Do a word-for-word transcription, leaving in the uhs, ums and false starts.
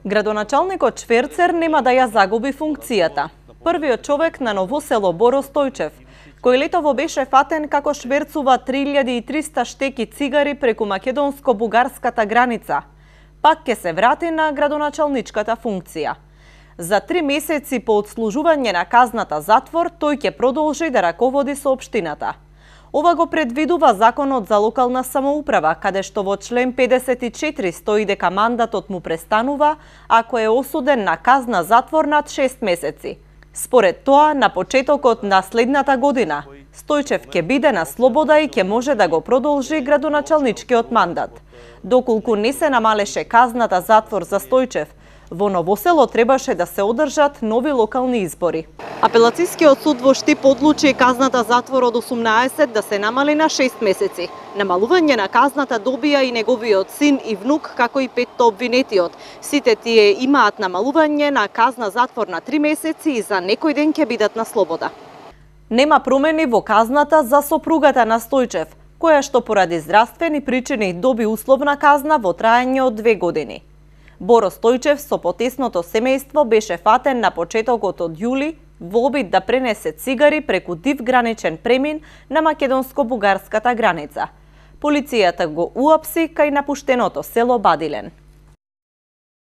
Градоначалникот Шверцер нема да ја загуби функцијата. Првиот човек на Ново село Боро Стојчев, кој летово беше фатен како шверцува три илјади и триста штеки цигари преку македонско-бугарската граница, пак ќе се врати на градоначалничката функција. За три месеци по отслужување на казната затвор, тој ќе продолжи да раководи соопштината. Ова го предвидува Законот за локална самоуправа, каде што во член педесет и четири стои дека мандатот му престанува ако е осуден на казна затвор над шест месеци. Според тоа, на почетокот на следната година, Стојчев ќе биде на слобода и ќе може да го продолжи градоначалничкиот мандат. Доколку не се намалеше казната затвор за Стојчев, во Ново село требаше да се одржат нови локални избори. Апелацискиот суд во Штип одлучи казната затвор од осумнаесет да се намали на шест месеци. Намалување на казната добија и неговиот син и внук, како и петто обвинетиот. Сите тие имаат намалување на казна затвор на три месеци и за некој ден ќе бидат на слобода. Нема промени во казната за сопругата на Стојчев, која што поради здравствени причини доби условна казна во траење од две години. Боро Стојчев со потесното семејство беше фатен на почетокот од јули во обид да пренесе цигари преку див граничен премин на македонско-бугарската граница. Полицијата го уапси кај напуштеното село Бадилен.